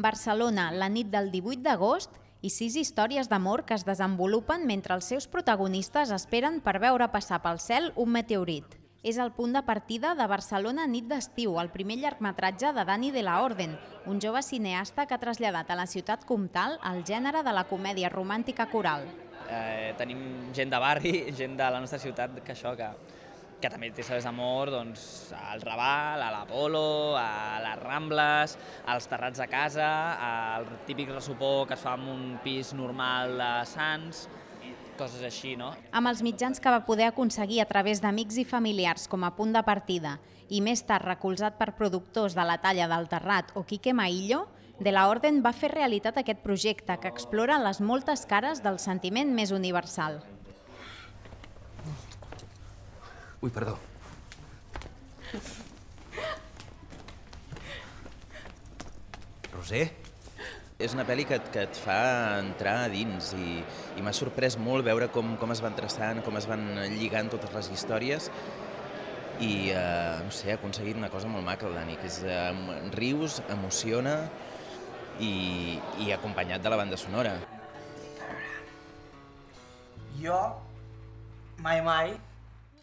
Barcelona, la nit del 18 d'agost i 6 històries d'amor que es desenvolupen mentre els seus protagonistes esperen per veure passar pel cel un meteorit. És el punt de partida de Barcelona nit d'estiu, el primer llargmetratge de Dani de la Orden, un jove cineasta que ha traslladat a la ciutat comtal el gènere de la comèdia romàntica coral. Tenim gent de barri, gent de la nostra ciutat que també té històries d'amor al Raval, a l'Apolo, a les Rambles, als terrats de casa, al típic ressopó que es fa en un pis normal de Sants, coses així, no? Amb els mitjans que va poder aconseguir a través d'amics i familiars com a punt de partida i més tard recolzat per productors de la talla del Terrat o Quique Maillo, De la Orden va fer realitat aquest projecte que explora les moltes cares del sentiment més universal. Ui, perdó. Roser? És una pel·li que et fa entrar a dins i m'ha sorprès molt veure com es van traçant, com es van lligant totes les històries i, no sé, ha aconseguit una cosa molt maca, el Dani, que és rius, emociona i acompanyat de la banda sonora. Jo, mai...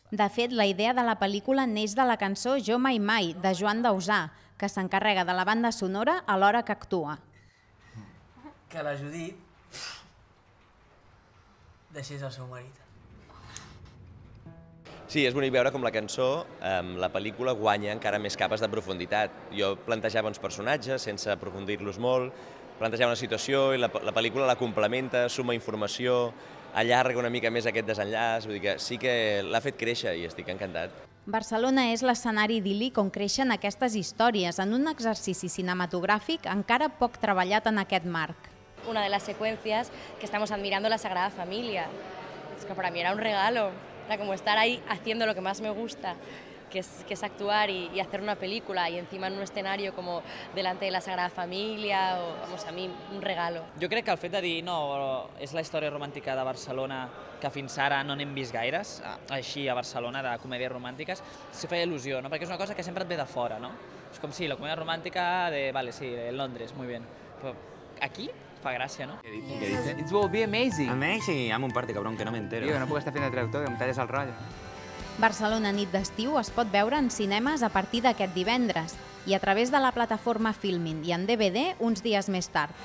De fet, la idea de la pel·lícula neix de la cançó Jo mai mai, de Joan Dausà, que s'encarrega de la banda sonora a l'hora que actua. Que la Judit deixés el seu marit. Sí, és bonic veure com la cançó, la pel·lícula, guanya encara més capes de profunditat. Jo plantejava uns personatges sense aprofundir-los molt, plantejava una situació i la pel·lícula la complementa, suma informació, allarga una mica més aquest desenllaç, vull dir que sí que l'ha fet créixer i estic encantat. Barcelona és l'escenari idíl·lic on creixen aquestes històries, en un exercici cinematogràfic encara poc treballat en aquest marc. Una de las secuencias que estamos admirando la Sagrada Familia. Es que para mí era un regalo, era como estar ahí haciendo lo que más me gusta, que es actuar y hacer una película y encima en un escenario como delante de la Sagrada Familia, vamos, a mí un regalo. Jo crec que el fet de dir, no, és la història romàntica de Barcelona que fins ara no n'hem vist gaires, així a Barcelona, de comèdies romàntiques, se feia il·lusió, no? Perquè és una cosa que sempre et ve de fora, no? És com si la comèdia romàntica de, vale, sí, de Londres, muy bien, però aquí fa gràcia, ¿no? ¿Qué dice? It will be amazing. Amazing. Amo un parte, cabrón, que no me entero. Tío, que no puedo estar haciendo de traductor, que me talles el rollo. Barcelona nit d'estiu es pot veure en cinemes a partir d'aquest divendres i a través de la plataforma Filmin i en DVD uns dies més tard.